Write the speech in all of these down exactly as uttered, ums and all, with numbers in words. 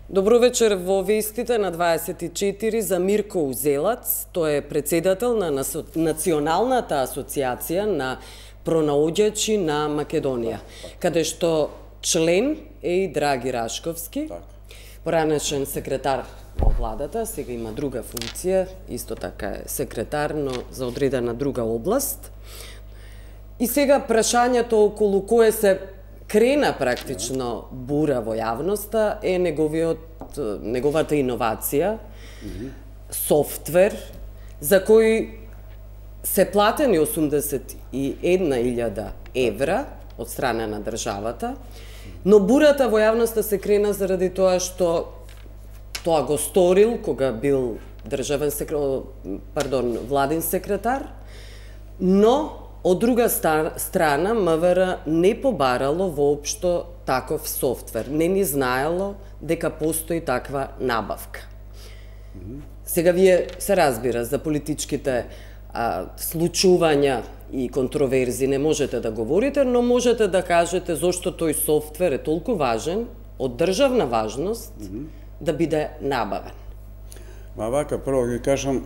Добро вечер во вестите на дваесет и четири за Мирко Узелац. Тој е председател на Националната асоциација на пронаоѓачи на Македонија, каде што член е и Драги Рашковски, поранешен секретар во владата, сега има друга функција, исто така е секретар, но за одредена друга област. И сега прашањето околу кое се крена практично бура во јавноста е неговиот, неговата иновација, софтвер, за кој се платени осумдесет и една илјада евра од страна на државата, но бурата во јавноста се крена заради тоа што тоа го сторил кога бил државен секретар, пардон, владин секретар, но од друга страна, МВР не побарало воопшто таков софтвер, не ни знаело дека постои таква набавка. Сега вие се разбира за политичките а, случувања и контроверзи не можете да говорите, но можете да кажете зошто тој софтвер е толку важен, од државна важност, mm -hmm. да биде набавен. Ма вака, прво ги кажам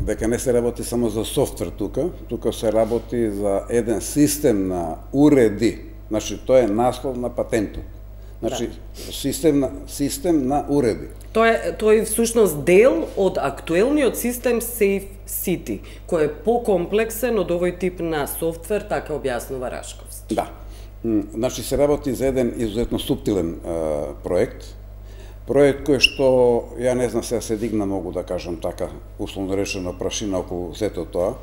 дека не се работи само за софтвер тука, тука се работи за еден систем на уреди. Значи, тоа е наслов на патентот. Значи, да. систем, на, систем на уреди. Тоа е, тој е всушност дел од актуелниот систем Safe City, кој е покомплексен од овој тип на софтвер, така објаснува Рашковски. Да. Значи, се работи за еден изуzetно суптилен е, проект, проект кој што, ја не знам сега се дигна многу да кажам така, условно речено прашина околу сето тоа.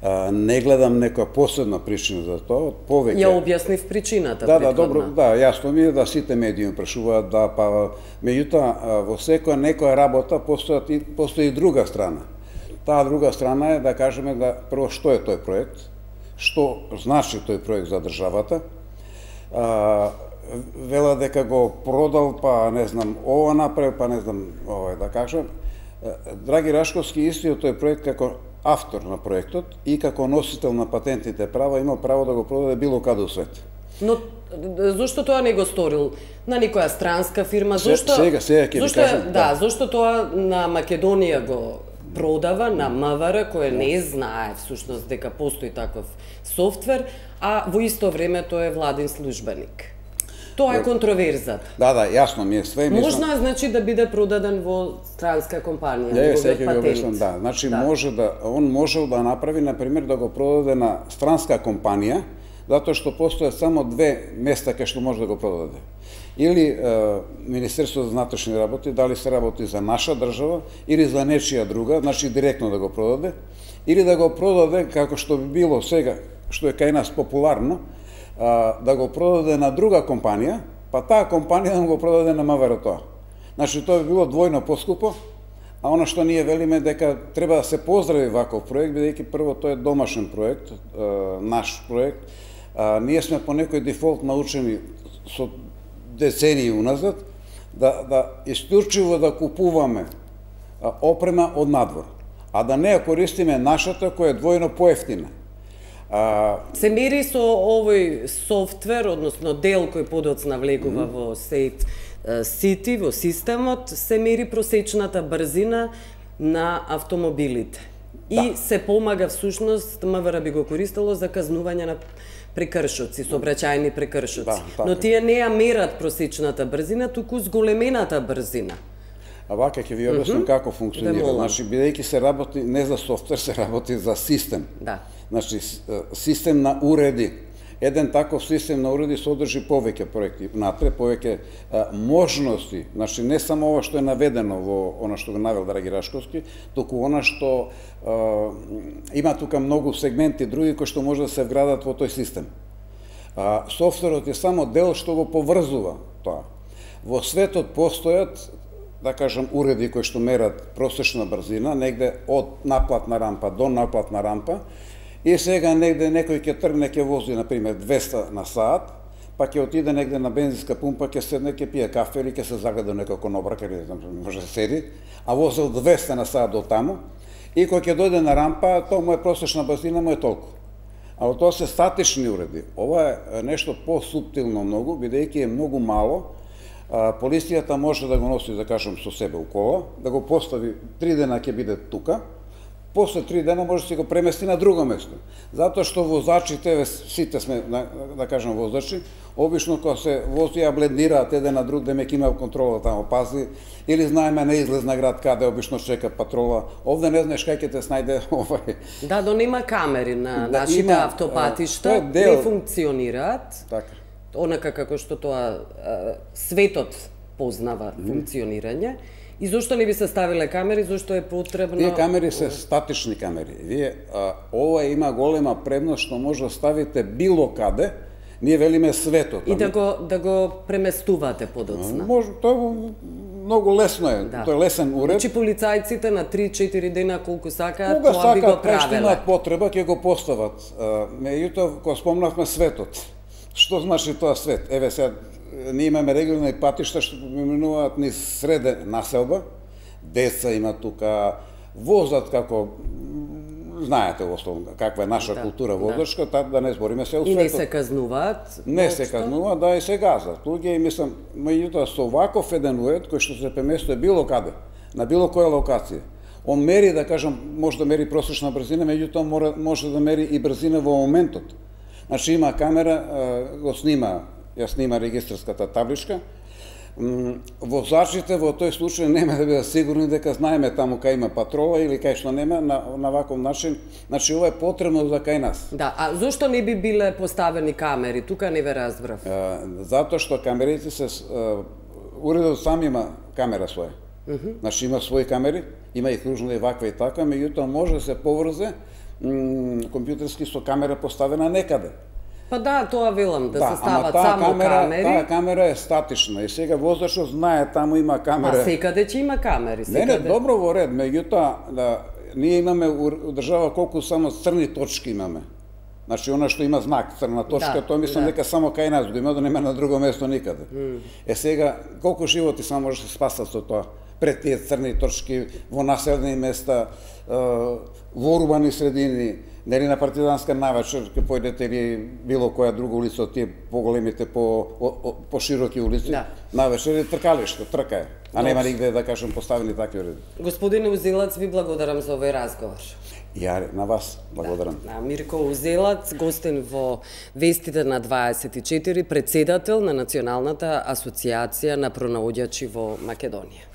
А, не гледам некоја посебна причина за тоа, повеќе. Ја објаснив причината. Да, да, добро, да, јасно ми е да сите медиуми прашуваат, да, па меѓутоа во секоја некоја работа постои постои и друга страна. Таа друга страна е да кажеме да прво што е тој проект, што значи тој проект за државата. А, вела дека го продал, па не знам, ова направил, па не знам, ова да кажам. Драги Рашковски истиот тој проект како автор на проектот и како носител на патентните права има право да го продаде било каде во свет. Но зошто тоа не го сторил на некоја странска фирма? Зошто Сега, сега ќе ви кажам. Да, да, зошто тоа на Македонија го продава на МВР, кој не знае всушност дека постои таков софтвер, а во исто време тој е владин службеник. Тоа е контроверзата. Да, да, јасно ми е све. Можно е, значи, да биде продаден во странска компанија. Не, сега ќе ви објаснам, да. Значи, да. може да, он можел да направи, например, да го продаде на странска компанија, затоа што постојат само две места кај што може да го продаде. Или е, Министерство за внатрешни работи, дали се работи за наша држава, или за нечија друга, значи директно да го продаде, или да го продаде, како што би било сега, што е кај нас популарно, да го продаде на друга компанија, па таа компанија да го продаде на МВР тоа. Значи, тоа би било двојно поскупо, а оно што ние велиме дека треба да се поздрави ваков проект, бидејќи прво тој е домашен проект, наш проект. Ние сме по некој дефолт научени со децении уназад да, да исклучиво да купуваме опрема од надвор, а да не ја користиме нашата која е двојно поевтина. А... Се мери со овој софтвер, односно дел кој подоцна влегува mm -hmm. во Safe City, во системот, се мери просечната брзина на автомобилите. И да. се помага всушност, МВР би го користело за казнување на прекршоци, сообраќајни прекршоци. Да, но тие не ја мерат просечната брзина, туку зголемената брзина. А вака ќе ви објаснам mm -hmm. како функционира. Значи, бидејќи се работи не за софтвер, се работи за систем. Да. Значи, систем на уреди. Еден таков систем на уреди содржи повеќе проекти внатре, повеќе а, можности. Значи, не само ова што е наведено во она што го навел Драги Рашковски, туку она што а, има тука многу сегменти други кои што може да се вградат во тој систем. А, софтверот е само дел што го поврзува тоа. Во светот постојат, да кажам, уреди кои што мерат просечна брзина, негде од наплатна рампа до наплатна рампа, и сега негде некој ќе тргне, ќе вози, например, двеста на саат, па ќе отиде негде на бензинска пумпа, ќе седне, ќе пие кафе или ќе се загледа некако нобрак, или може да седи, а возил двеста на саат до таму, и кој ќе дојде на рампа, тоа му е просечна брзина, му е толку. А тоа се статични уреди. Ова е нешто по-суптилно многу, бидејќи е многу мало, полицијата може да го носи, да кажем, со себе у кола, да го постави, три дена ќе биде тука, после три дена може да се го премести на друго место. Затоа што возачите, сите сме, да, да кажем, возачи, обично кога се возија блендираат еден на друг, демек има контрола тамо пази, или знаеме на излез на град каде обично чека патрола. Овде не знаеш кај ќе те снајде овај. Да, но нема камери на Да, нашите има, автопатишта, е, дел- не функционираат. Така. Онака како што тоа а, светот познава функционирање. И зошто не би се ставиле камери, зошто е потребно... Тие камери се статични камери. Вие, а, ова има голема предност што може да ставите било каде, ние велиме светот. И да го, да го преместувате подоцна. Може, тоа е многу лесно е, Да. тоа е лесен уред. Значи полицајците на три-четири дена колку сакаат, Кога тоа би го сакаат, кај што правеле. имаат потреба, ќе го постават. А, Меѓутоа, кога спомнавме светот, што значи тоа свет? Еве сега, ние имаме регионални патишта што поминуваат низ среде населба, деца има тука, возат како, знаете основно каква е наша Да, култура да. возачка, така да не збориме се у И не светот. се казнуваат. Не се воопшто. казнува, да и се газат. Луѓе и мислам, меѓутоа со ваков еден уед кој што се преместува било каде, на било која локација. Он мери, да кажам, може да мери просечна брзина, меѓутоа мора може да мери и брзина во моментот. Значи има камера, а, го снима, ја снима регистарската табличка. М, Возачите во тој случај нема да бидат сигурни дека знаеме таму кај има патрола или кај што нема на, на ваков начин. Значи ова е потребно за кај нас. Да, а зошто не би биле поставени камери? Тука не ве разбрав. А, затоа што камерите се а, уредот сам има камера своја. Значи има своји камери, има и кружна и ваква и така, меѓутоа може да се поврзе м, компјутерски со камера поставена некаде. Па да, тоа велам, да, се ама стават таа само камера, камери. таа камера е статична и сега возачот знае таму има Па камера. секаде ќе има камери, Не, секаде. не, добро во ред, меѓутоа да, ние имаме у у држава колку само црни точки имаме. Значи, она што има знак, црна точка, Да, тоа мислам да. дека само кај нас го има, да нема на друго место никаде. Е сега, колку животи само може да се спасат со тоа? Пред тие црни точки, во населени места, е, во урбани средини, нели на Партизанска навечер, ке појдете или било која друга улица од тие поголемите, по, по, по широки улици, Да. навечер е тркалиште, трка е. А нема нигде, да кажем, поставени такви уреди. Господине Узелац, ви благодарам за овој разговор. Ја на вас благодарам. Да, Мирко Узелац, гостин во Вестите на дваесет и четири, председател на Националната асоциација на пронаоѓачи во Македонија.